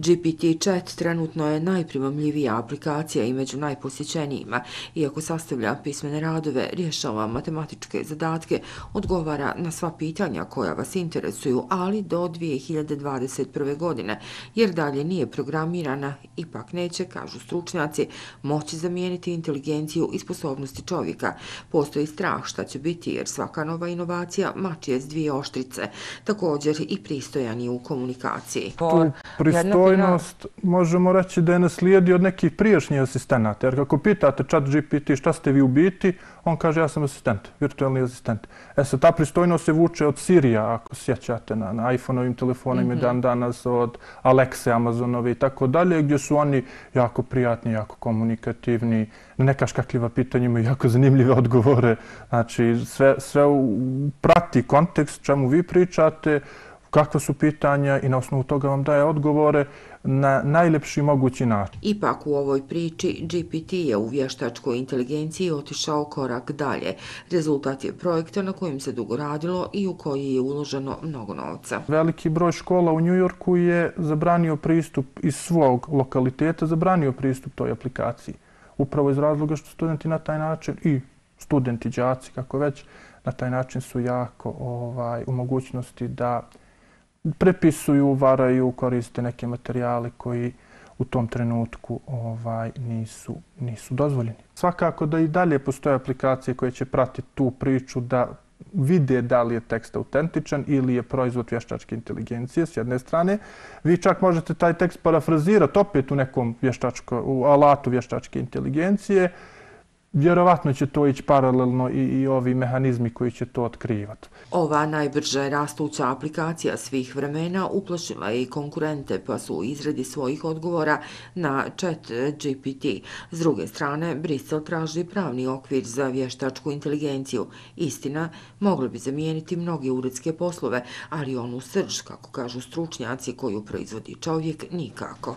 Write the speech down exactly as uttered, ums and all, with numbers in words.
G P T Chat trenutno je najprimamljivija aplikacija i među najposjećenijima, iako sastavlja pismene radove, rješava matematičke zadatke, odgovara na sva pitanja koja vas interesuju, ali do dvije hiljade dvadeset prve. godine, jer dalje nije programirana, ipak neće, kažu stručnjaci, moći zamijeniti inteligenciju i sposobnosti čovjeka. Postoji strah šta će biti, jer svaka nova inovacija mači je s dvije oštrice, također i pristojan je u komunikaciji. Tu pristojnost možemo reći da je naslijedi od nekih prijašnjih asistenata, jer kako pitate chat G P T šta ste vi u biti, on kaže ja sam asistent, virtualni asistent. E sad, ta pristojnost se vuče od Sirija, ako sjećate, na, na iPhone-ovim telefonima, mm-hmm. dan danas od Alexe, Amazonove i tako dalje, gdje su oni jako prijatni, jako komunikativni, na neka škakljiva pitanja imaju jako zanimljive odgovore. Znači, sve, sve prati kontekst čemu vi pričate, kakva su pitanja i na osnovu toga vam daje odgovore na najlepši mogući način. Ipak u ovoj priči G P T je u vještačkoj inteligenciji otišao korak dalje. Rezultat je projekta na kojem se dugo radilo i u koji je uloženo mnogo novca. Veliki broj škola u New Yorku je zabranio pristup iz svog lokaliteta, zabranio pristup toj aplikaciji. Upravo iz razloga što studenti na taj način i studenti, đaci, kako već, na taj način su jako ovaj, u mogućnosti da prepisuju, varaju, koriste neke materijale koji u tom trenutku ovaj, nisu, nisu dozvoljeni. Svakako da i dalje postoje aplikacije koje će pratiti tu priču da vide da li je tekst autentičan ili je proizvod vještačke inteligencije s jedne strane. Vi čak možete taj tekst parafrazirati opet u nekom vještačko, u alatu vještačke inteligencije. Vjerovatno će to ići paralelno i, i ovi mehanizmi koji će to otkrivati. Ova najbrže rastuća aplikacija svih vremena uplašila je i konkurente, pa su u izradi svojih odgovora na chat G P T. S druge strane, Brisel traži pravni okvir za vještačku inteligenciju. Istina, mogli bi zamijeniti mnoge uredske poslove, ali onu srž, kako kažu stručnjaci, koju proizvodi čovjek, nikako.